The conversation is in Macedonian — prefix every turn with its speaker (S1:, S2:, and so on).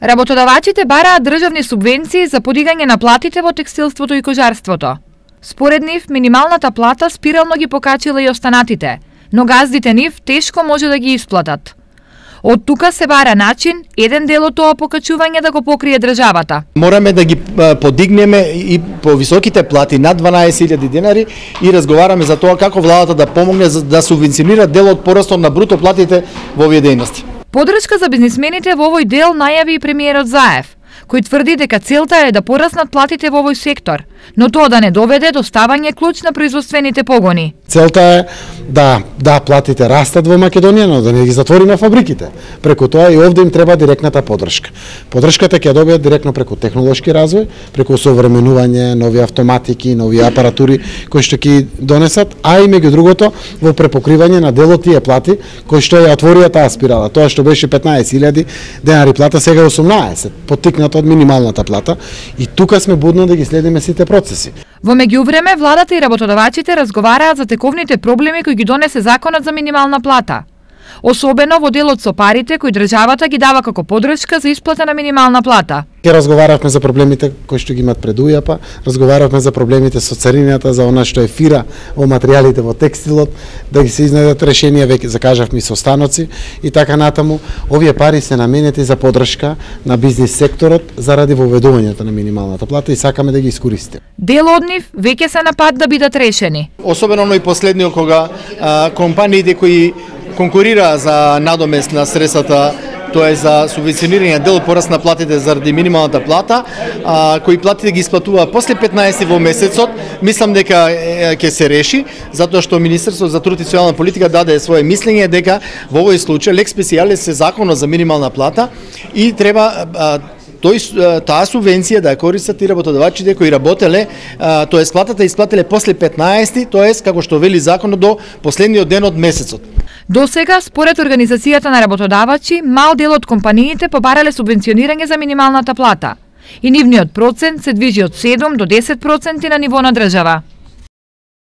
S1: Работодавачите бараат државни субвенции за подигање на платите во текстилството и кожарството. Според нив, минималната плата спирално ги покачила и останатите, но газдите нив тешко може да ги исплатат. Од тука се бара начин, еден дел од тоа покачување да го покрие државата.
S2: Мораме да ги подигнеме и по високите плати над 12.000 денари и разговараме за тоа како владата да помогне да субвенционира дел од порастот на бруто платите во овие дејности.
S1: Подршка за бизнисмените во овој дел најави и премиерот Заев, кој тврди дека целта е да пораснат платите во овој сектор, но тоа да не доведе до ставање клуч на производствените погони.
S3: Целта е да платите растат во Македонија, но да не ги затвориме фабриките. Преку тоа и овде им треба директната подршка. Подршката ќе добијат директно преку технолошки развој, преку современување, нови автоматики, нови апаратури кои што ќе донесат, а и меѓу другото во препокривање на дел од тие плати кои што ја отворија таа спирала. Тоа што беше 15.000 денари плата, сега 18, поттикнато од минималната плата, и тука сме будно да ги следиме сите процеси.
S1: Во меѓувреме, владата и работодавачите разговараат за тековните проблеми кои ги донесе законот за минимална плата. Особено во делот со парите кои државата ги дава како подршка за исплата на минимална плата.
S3: Ке разговаравме за проблемите кои што ги имат пред УЈАП, разговаравме за проблемите со царината, за она што е фира во материјалите во текстилот, да ги се изнајдат решенија, веќе закажавме и со станоци и така натаму. Овие пари се наменети за подршка на бизнис секторот заради воведувањето на минималната плата и сакаме да ги искористиме.
S1: Дел од нив веќе се на пат да бидат решени.
S2: Особено и последниот кога компаниите кои конкурира за надомест на средствата, тоа е за субвенционирање дел пораст на платите заради минималната плата, кои платите ги исплатува после 15 во месецот, мислам дека ќе се реши, затоа што Министерството за труд и социјална политика даде свое мислење дека во овој случај лек специјалис е законот за минимална плата и треба таа субвенција да ја користат и работодавачите кои работеле, тоест платата исплателе после 15, тоест како што вели законот до последниот ден од месецот.
S1: До сега, според Организацијата на работодавачи, мал дел од компаниите побарале субвенционирање за минималната плата и нивниот процент се движи од 7 до 10% на ниво на држава.